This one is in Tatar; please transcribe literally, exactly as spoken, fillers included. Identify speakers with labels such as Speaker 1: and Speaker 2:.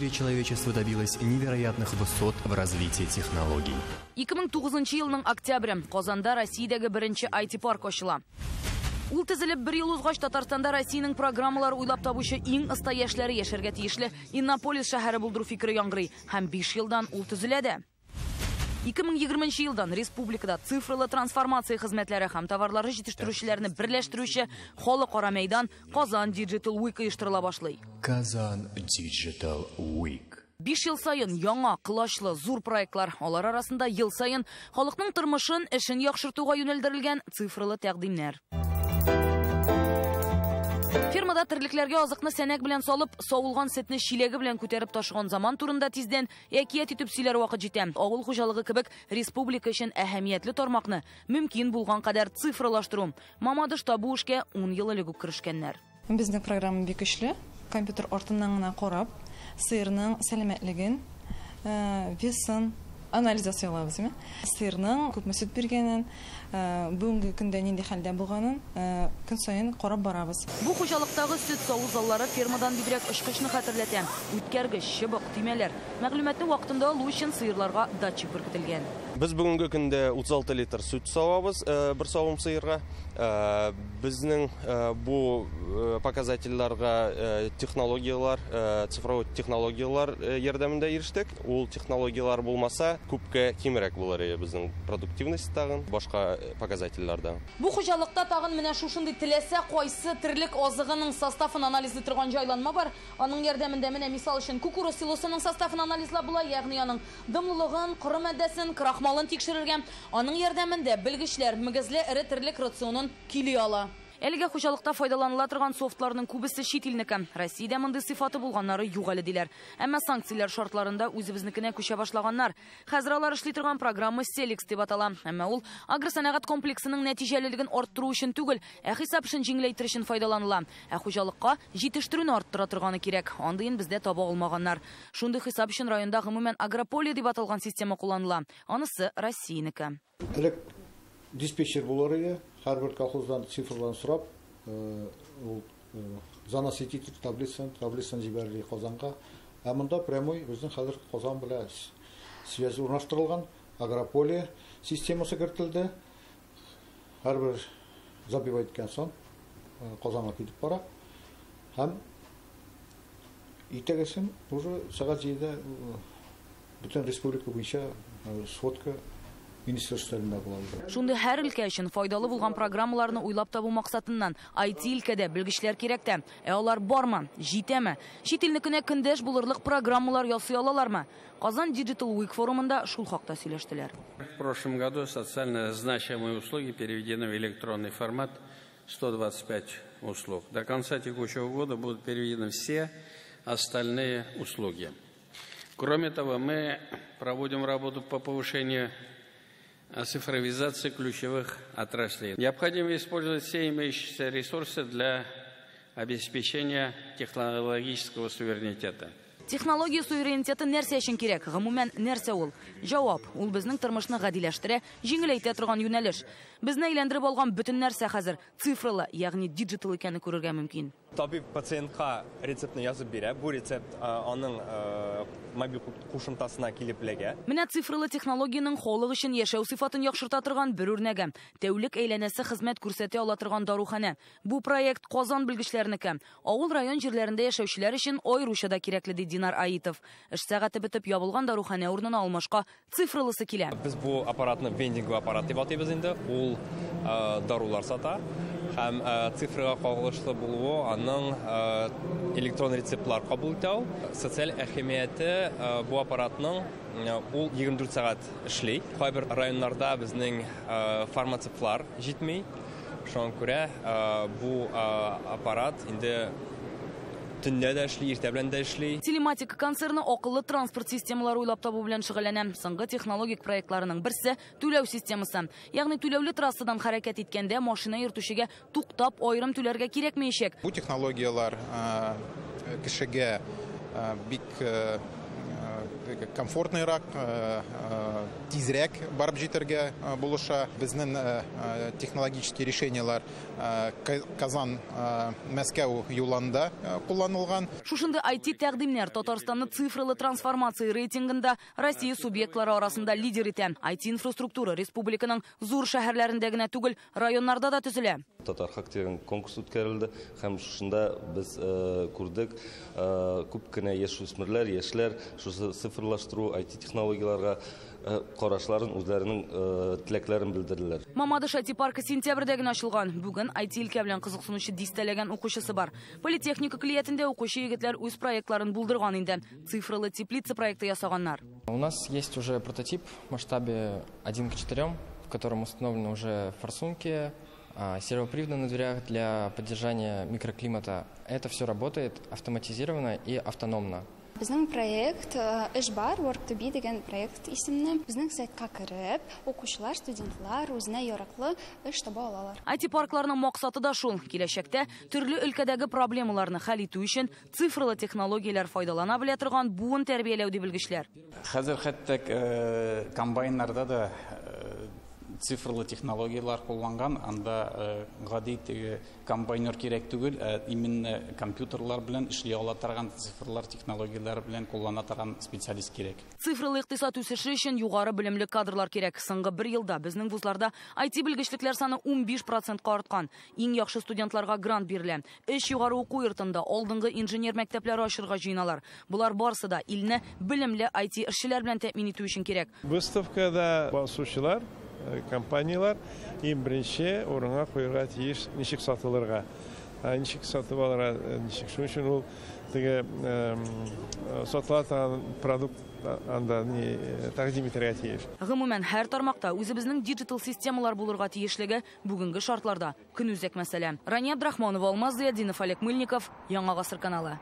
Speaker 1: История человечества добилась невероятных высот в развитии технологий.
Speaker 2: ике мең тугызынчы елның октябре. Казанда Россиядәге беренче I T-парк ачыла. Ул төзелеп бер ел узгач, Татарстанда Россиянең программалар уйлап табучы иң оста яшьләре яшәргә тиешле Иннополис шәһәре булдыру фикере яңгырый һәм биш елдан ул төзелә дә. ике мең егерменче елдан республикада цифрлы трансформация хезмәтләре һәм товарлары җитештерүчеләрне берләштерүче халыкара мәйдан Казан Digital Week оештырыла башлый.
Speaker 1: Казан Digital Week.
Speaker 2: Биш ел саен яңа, колачлы, зур проектлар. Алар арасында ел саен халыкның тормышын, эшен яхшыртуга юнәлдерелгән цифрлы тәкъдимнәр. Фермада терлекләргә азыкны сәнәк белән салып, савылган сөтне чиләге белән күтәреп ташыган заман турында тиздән әкият итеп сөйләр вакыт җитә. Авыл хуҗалыгы кебек республика өчен әһәмиятле тармакны мөмкин булган кадәр цифрлаштыру. Мамадышта бу эшкә ун ел элек үк керешкәннәр.
Speaker 3: Безнең программа бик көчле. Компьютер артыннан гына карап, сыерның сәламәтлеген, э, весын анализ ясый алабыз, әйме? Сыерның күпме сөт биргәнен, э, бүгенге көндә нинди хәлдә булганын э, көн саен карап барабыз.
Speaker 2: Бу хуҗалыктагы сөт саву заллары фермадан бигрәк очкычны хәтерләтә. Үткәргеч, чыбык, төймәләр. Мәгълүматны вакытында алу өчен сыерларга датчик беркетелгән.
Speaker 4: Без бүгенге көндә утыз алты литр сөт савабыз э, бер савым сыерга. Э, Безнең э, бу э, показательләргә э, технологияләр, э, цифровой технологияләр э, ярдәмендә ирештек. Ул технологияләр булмаса, күпкә кимрәк булыр иде безнең продуктивность тагын, башка э, показательләрдә.
Speaker 2: Бу хуҗалыкта тагын менә шушындый теләсә кайсы терлек азыгының составын анализлый торган җайланма бар. Аның ярдәмендә менә, мисал өчен, кукуруз силосының составын анализлап була, ягъни аның дымлылыгын, коры матдәсен, крахмалын тикшерергә. Аның ярдәмендә белгечләр мөгезле эре терлек рационын көйли ала. Әлегә хуҗалыкта файдаланыла торган софтларның күбесе чит илнеке. Россиядә мондый сыйфаты булганнары юк әле, диләр. Әмма санкцияләр шартларында үзебезнекенә күчә башлаганнар. Хәзер алар эшли торган программа Селикс дип атала. Әмма ул агросәнәгать комплексының нәтиҗәлелеген арттыру өчен түгел, ә хисап эшен җиңеләйтер өчен файдаланыла. Ә хуҗалыкка җитештерүне арттыра торганы кирәк. Андыен бездә таба алмаганнар. Шундый хисап өчен районда гомумән Агрополия дип аталган система кулланыла. Анысы Россиянеке.
Speaker 5: Элек диспетчер булыр иде, һәрбер колхоздан цифрларын сорап, э, ул э, заносить итеп таблицаны, таблицаны җибәрде Казанга. Ә монда прямой безнең хәзер Казан белән связь урнаштырылган, Агрополия системасы кертелде. Һәрбер забивать иткән соң э, Казанга китеп бара. Һәм иртәгесен уже сәгать җидедә бөтен республика буенча сводка министерстволарында була.
Speaker 2: Шундый һәр өлкә өчен файдалы булган программаларны уйлап табу максатыннан I T өлкәдә белгечләр кирәк тә. Ә алар бармы? Җитәме? Чит илнекенә көндәш булырлык программалар ясый алалармы? Казан Digital Week форумында шул хакта сөйләштеләр.
Speaker 6: В прошлом году социально значимые услуги переведены в электронный формат, сто двадцать пять услуг. До конца текущего года будут переведены все остальные услуги. Кроме того, мы проводим работу по повышению цифровизации ключевых отраслей. Необходимо использовать все имеющиеся ресурсы для обеспечения технологического суверенитета.
Speaker 2: Технология суверенитеты нәрсә өчен кирәк? Гомумән, нәрсә ул? Җавап: ул безнең тормышны гадиләштерә, җиңеләйтә торган юнәлеш. Безне әйләндереп алган бөтен нәрсә хәзер цифрлы, ягъни digital икәнен күрергә мөмкин.
Speaker 7: Табиб пациентка рецептны язып бирә. Бу рецепт аның мобиль кушымтасына килеп эләгә.
Speaker 2: Менә цифрлы технологиянең халык өчен яшәү сыйфатын яхшырта торган бер үрнәге. Тәүлек әйләнәсе хезмәт күрсәтә ала торган даруханә. Бу проект Казан белгечләренеке. Авыл, район җирләрендә яшәүчеләр өчен аеруча да кирәкле, ди Динар Аитов. Эш сәгате бетеп ябылган даруханә урынына алмашка цифрлысы килә.
Speaker 7: Без бу аппаратны вендинг аппарат дип атыйбыз инде. Ул дарулар сата һәм цифрага кагылышлы булуы аның электрон рецептлар кабул итә ул. Социаль әһәмияте бу аппаратның: ул егерме дүрт сәгать эшли. Кайбер районнарда безнең фармацевтлар җитми. Шуңа күрә бу аппарат инде төнлә дә эшли, иртә белән дә эшли.
Speaker 2: Телематика концерны акыллы транспорт системалары уйлап табу белән шөгыльләнә. Соңгы технологик проектларының берсе — түләү системасы. Ягъни түләүле трассадан хәрәкәт иткәндә машина йөртүчегә туктап аерым түләргә кирәкмәячәк.
Speaker 8: Бу технологияләр кешегә бик Комфортныйрак, тизрәк барып җитәргә булыша. Безнең технологический решениялар Казан, Мәскәү юлында кулланылган.
Speaker 2: Шушындый ай ти тәкъдимнәр Татарстанны цифрлы трансформация рейтингында Россия субъектлары арасында лидер итә. ай ти инфраструктура республиканың зур шәһәрләрендә генә түгел, районнарда да төзелә.
Speaker 9: Татар хак дигән конкурс үткәрелде һәм шушында без күрдек, күп кенә яшүсмерләр, яшьләр шушы цифрлаштыру, ай ти технологияләргә карашларын, үзләренең теләкләрен белдерделәр.
Speaker 2: Мамадыш ай ти паркы сентябрьдә генә ачылган. Бүген ай ти өлкә белән кызыксынучы дистәләгән укучысы бар. Политехника көллиятендә укучы егетләр үз проектларын булдырган инде. Цифрлы теплица проекты ясаганнар.
Speaker 7: У нас есть уже прототип в масштабе один к четырем, в котором установлены уже форсунки, сервоприводы на дверях для поддержания микроклимата. Это все работает автоматизированно и автономно.
Speaker 10: Безнең проект Эш бар, Work to be дигән проект исемле. Безнең сайтка кереп, укучылар, студентлар үзенә яраклы эш таба алалар.
Speaker 2: ай ти паркларның максаты да шул. Киләчәктә төрле өлкәдәге проблемаларны хәл итү өчен цифрлы технологияләр файдалана белә торган буын тәрбияләү ди белгечләр.
Speaker 11: Хәзер хәтта комбайннарда да цифрлы технологиялар кулланган, анда гади теге комбайнер кирәк түгел, ә именно компьютерлар белән эшли ала торган цифрлар технологияләр белән куллана торган специалист кирәк.
Speaker 2: Цифрлы икътисад үсеше өчен югары белемле кадрлар кирәк. Соңгы бер елда безнең вузларда ай ти белгечлекләр саны унбиш процентка арткан. Иң яхшы студентларга грант бирелә. Өч югары уку йортында алдынгы инженер мәктәпләре ачырга җыеналар. Болар барысы да илне белемле ай ти эшчеләр белән тәэмин итү өчен кирәк.
Speaker 12: Выставкада басучылар, компаниялар иң беренче урынга куярга тиеш ничек сатылырга, ничек сатып алырга, ничек. Шуның өчен ул теге сатыла торган продукт анда ни тәкъдим итәргә тиеш.
Speaker 2: Гомумән, һәр тармакта үзебезнең диджитал системалар булырга тиешлеге бүгенге шартларда көнүзәк мәсьәлә. Рания Абдрахманова, Алмаз Зыятдинов, Олег Мыльников, Яңа Гасыр каналы.